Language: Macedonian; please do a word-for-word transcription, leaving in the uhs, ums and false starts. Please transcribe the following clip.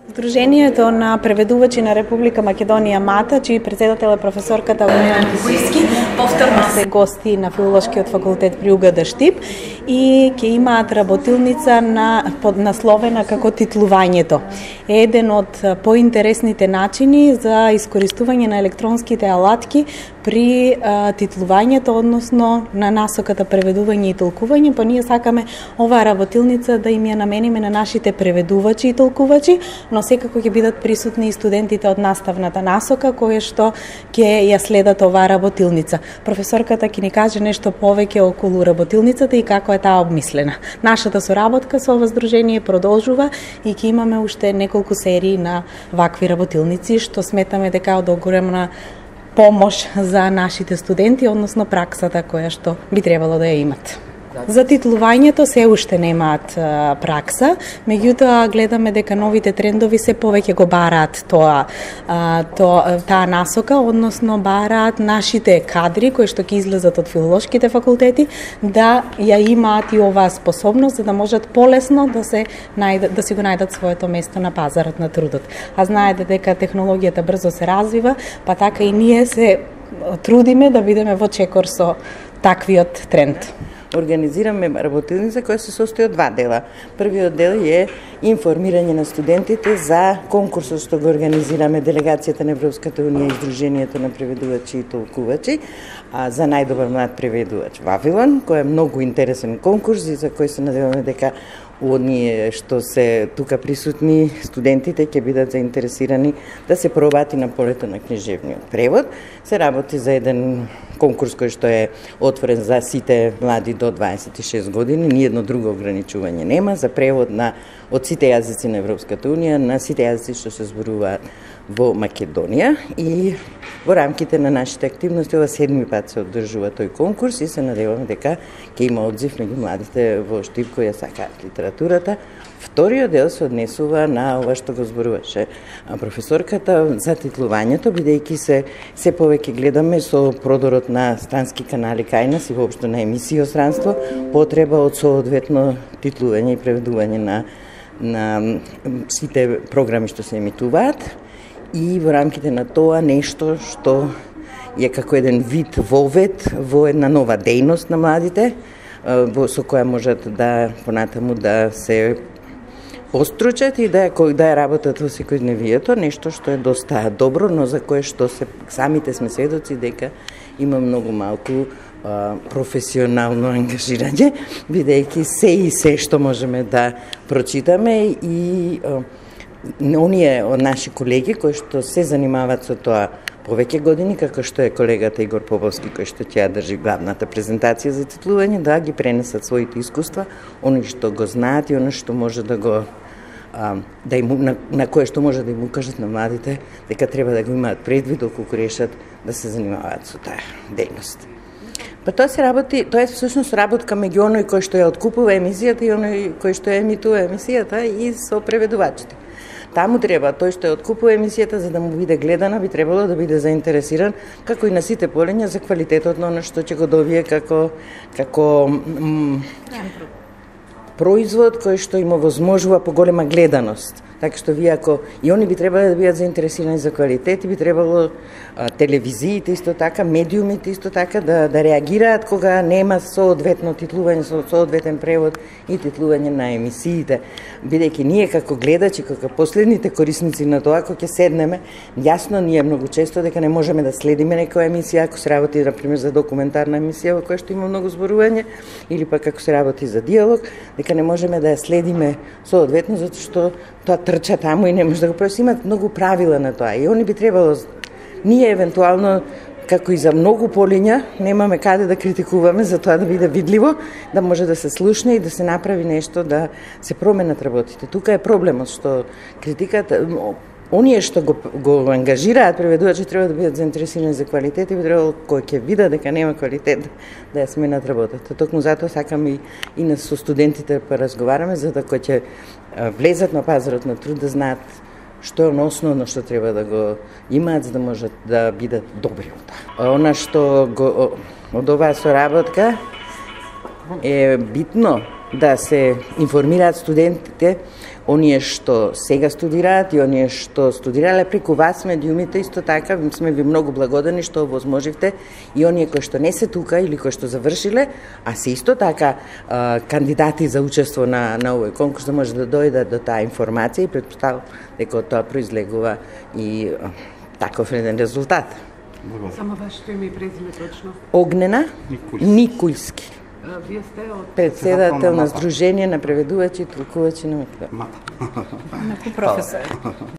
Сдруженијето на преведувачи на Република Македонија МАТА, чиј председател е професорката Бојан Тисијски, повторно се гости на Филолошкиот факултет при УГД Штип и ќе имаат работилница на поднасловена како титлувањето. Е еден од поинтересните начини за искористување на електронските алатки при а, титлувањето, односно на насоката преведување и толкување, па ние сакаме оваа работилница да им ја намениме на нашите преведувачи и толкувачи, но секако ќе бидат присутни и студентите од наставната насока кои што ќе ја следат оваа работилница. Професорката ќе ни каже нешто повеќе околу работилницата и како е таа обмислена. Нашата соработка со ова здружение продолжува и ќе имаме уште неколку серии на вакви работилници, што сметаме дека е од огромна помош за нашите студенти, односно праксата која што би требало да ја имат. За титлувањето се уште немаат а, пракса, меѓутоа гледаме дека новите трендови се повеќе го бараат тоа, а, то, таа насока, односно бараат нашите кадри кои што ќе излезат од филолошките факултети да ја имаат и оваа способност за да можат полесно да се најдат, да си го најдат своето место на пазарот на трудот. А знаете дека технологијата брзо се развива, па така и ние се трудиме да бидеме во чекор со таквиот тренд. Организираме работилница која се состои од два дела. Првиот дел е информирање на студентите за конкурсот што го организираме делегацијата на Европската унија и Сдруженијето на преведувачи и толкувачи, а за најдобар млад преведувач Вавилон, кој е многу интересен конкурс и за кој се надеваме дека оние што се тука присутни студентите ќе бидат заинтересирани да се пробати на полето на книжевниот превод. Се работи за еден конкурс кој што е отворен за сите млади до дваесет и шест години, ниедно друго ограничување нема, за превод на од сите јазици на Европската унија на сите јазици што се зборуваат во Македонија, и во рамките на нашите активности ова седми пат се одржува тој конкурс и се надеваме дека ќе има одзив меѓу младите во Штип кои ја сакаат литературата. Вториот дел се однесува на ова што го зборуваше професорката за титлувањето, бидејќи се се повеќе гледаме со продорот на странски канали кај нас и воопшто на емисии од странство, потреба од соодветно титлување и преведување на на сите програми што се емитуваат, и во рамките на тоа нешто што е како еден вид вовед во една нова дејност на младите, со која можат да понатаму да се постручат и да ја, да ја работат во секојдневието, нешто што е доста добро, но за кое што се самите сме сведоци дека има многу малку а, професионално ангажирање, бидејќи се и се што можеме да прочитаме и а, оние од наши колеги кои што се занимаваат со тоа повеќе години, како што е колегата Игор Поповски, кој што ќе ја држи главната презентација за титлување, да ги пренесат своите искуства, оно што го знаат и оно што може да го а, да им, на, на кое што може да им укажат на младите дека треба да го имаат предвид доколку решат да се занимаваат со таа дејност. Па тоа се работи, тоа е всушност работка меѓу оној кој што ја откупува емисијата и оној кој што ја емитува емисијата и со преведувачите. Таму треба, тој што ја откупува емисијата за да му биде гледана, би требало да биде заинтересиран, како и на сите полења, за квалитетот на оно што ќе го добие како како производ кој што им овозможува поголема гледаност. Така што вие ако и они би требало да бидат заинтересирани за квалитет, и би требало а, телевизиите исто така, медиумите исто така да да реагираат кога нема соодветно титлување, со соодветен превод и титлување на емисиите, бидејќи ние како гледачи, како последните корисници на тоа, кога ќе седнеме, јасно ние многу често дека не можеме да следиме некоја емисија, ако се работи на пример за документарна емисија во која што има многу зборување, или пак ако се работи за диалог, дека не можеме да ја следиме соодветно затоа што тоа трча таму и не може да го проси. Имат многу правила на тоа и они би требало, ние евентуално како и за многу полиња немаме каде да критикуваме за тоа да биде видливо, да може да се слушне и да се направи нешто, да се променат работите. Тука е проблемот што критиката, оние што го, го ангажираат преведувачи треба да бидат заинтересирани за квалитет и би требало кој ќе видат дека нема квалитет да ја сменат работата. Токму затоа сакам и, и на со студентите па разговараме за да кој ќе влезат на пазарот на труд да знаат што е оно основно што треба да го имаат за да можат да бидат добри од тоа. Она што го, од оваа соработка е битно да се информираат студентите, оние што сега студираат и оние што студирале преку вас медиумите, исто така сме ви многу благодарни што овозможивте и оние кои што не се тука или кои што завршиле, а се исто така а, кандидати за учество на, на овој конкурс, да може да дојдат до таа информација и претпоставам дека од тоа произлегува и а, таков еден резултат. Само вашето име и презиме точно? Огнена Никулски. Никулски. Вие сте од Председател на Сдружение на преведувачи и толкувачи на Македонија. професор.